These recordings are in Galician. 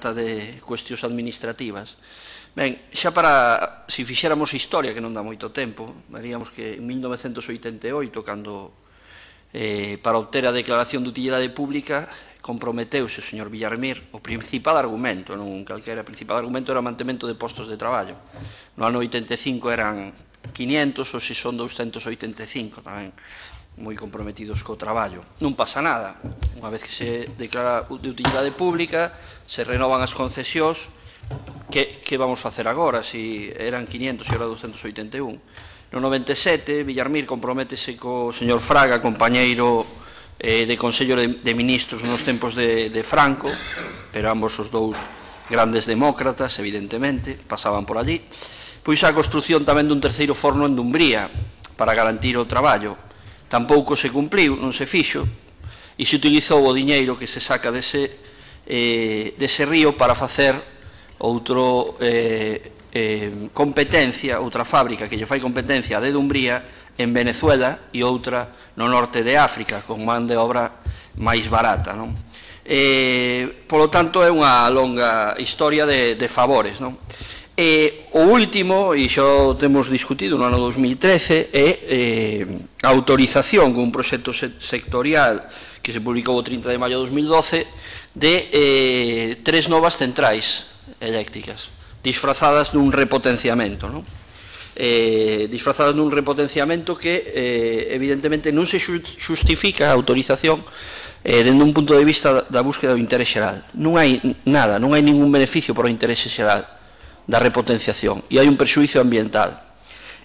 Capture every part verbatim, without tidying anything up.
trata de cuestións administrativas. Ben, xa para, se fixéramos historia, que non dá moito tempo, veríamos que en mil novecentos oitenta e oito, cando eh, para obter a declaración de utilidade pública, comprometeuse o señor Villarmir, o principal argumento, non calquera, o principal argumento era o mantemento de postos de traballo. No ano oitenta e cinco eran quinientos, ou se son douscentos oitenta e cinco, tamén moi comprometidos co traballo. Non pasa nada, unha vez que se declara de utilidade pública, se renovan as concesións. Que, que vamos facer agora, se eran quinientos e agora douscentos oitenta e un? No noventa e sete, Villarmir comprométese co señor Fraga, compañeiro eh, de Consello de, de Ministros nos tempos de, de Franco, pero ambos os dous grandes demócratas, evidentemente, pasaban por allí. Pois a construción tamén dun terceiro forno en Dumbría, para garantir o traballo. Tampouco se cumpliu, non se fixo, e se utilizou o diñeiro que se saca dese, eh, dese río para facer outro eh, eh, competencia, outra fábrica que lle fai competencia de Dumbría en Venezuela e outra no norte de África con man de obra máis barata, non? Eh, polo tanto é unha longa historia de, de favores, non? E o último, e xa temos discutido no ano dos mil trece, é eh, a autorización con un proxecto sectorial que se publicou o trinta de maio de dos mil doce de eh, tres novas centrais eléctricas, disfrazadas dun repotenciamento, non? Eh, disfrazadas dun repotenciamento que eh, evidentemente non se xustifica a autorización eh, dende un punto de vista da búsqueda do interés xeral. Non hai nada, non hai ningún beneficio para o interés xeral da repotenciación, e hai un prexuízo ambiental,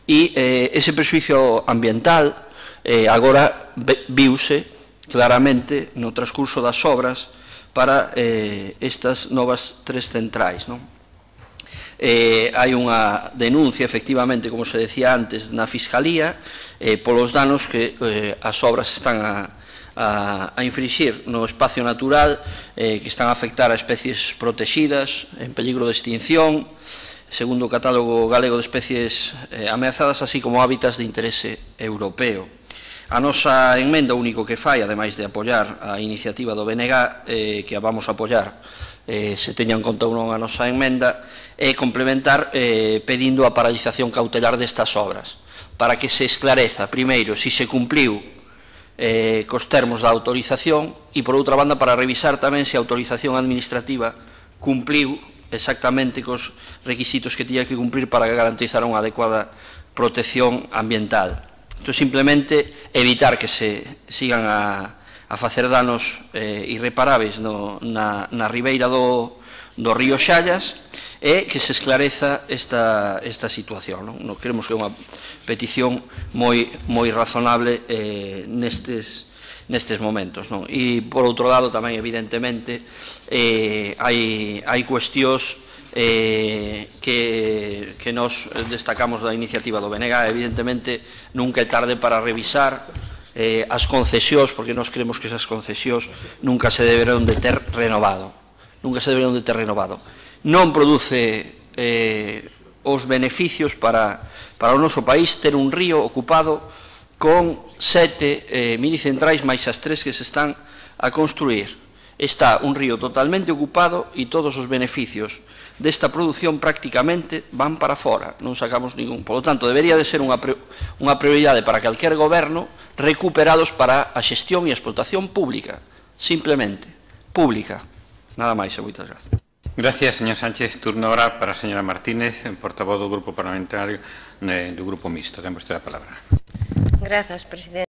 e eh, ese prexuízo ambiental eh, agora viuse claramente no transcurso das obras para eh, estas novas tres centrais, non? Eh, hai unha denuncia, efectivamente, como se decía antes, na Fiscalía eh, polos danos que eh, as obras están a, a, a infringir no espacio natural, eh, que están a afectar a especies protegidas en peligro de extinción, segundo o Catálogo Galego de Especies eh, Ameazadas, así como hábitats de interese europeo. A nosa enmenda, o único que fai, ademais de apoiar a iniciativa do B N G, eh, que a vamos a apoiar, eh, se teña en conta ou non a nosa enmenda, é complementar eh, pedindo a paralización cautelar destas obras, para que se esclareza, primeiro, se se cumpliu eh, cos termos da autorización, e, por outra banda, para revisar tamén se a autorización administrativa cumpliu exactamente cos requisitos que tiña que cumplir para garantizar unha adecuada protección ambiental. Isto simplemente evitar que se sigan a, a facer danos eh, irreparáveis no, na, na ribeira do, do río Xallas, e que se esclareza esta, esta situación, non? Non creemos que é unha petición moi, moi razonable eh, nestes, nestes momentos, non? E, por outro lado, tamén, evidentemente, eh, hai, hai cuestións Eh, que, que nos destacamos da iniciativa do B N G. Evidentemente nunca é tarde para revisar eh, as concesións, porque nós creemos que esas concesións nunca se deberán de ter renovado, nunca se deberán de ter renovado. Non produce eh, os beneficios para, para o noso país ter un río ocupado con sete eh, minicentrais máis as tres que se están a construir. Está un río totalmente ocupado e todos os beneficios desta produción prácticamente van para fora, non sacamos ningún. Por lo tanto, debería de ser unha, unha prioridade para calquer goberno recuperados para a xestión e a explotación pública, simplemente, pública. Nada máis, e moitas gracias. Gracias, señor Sánchez. Turno ahora para a señora Martínez, portavoz do Grupo Parlamentario do Grupo Mixto. Ten vostede a palabra. Gracias, presidente.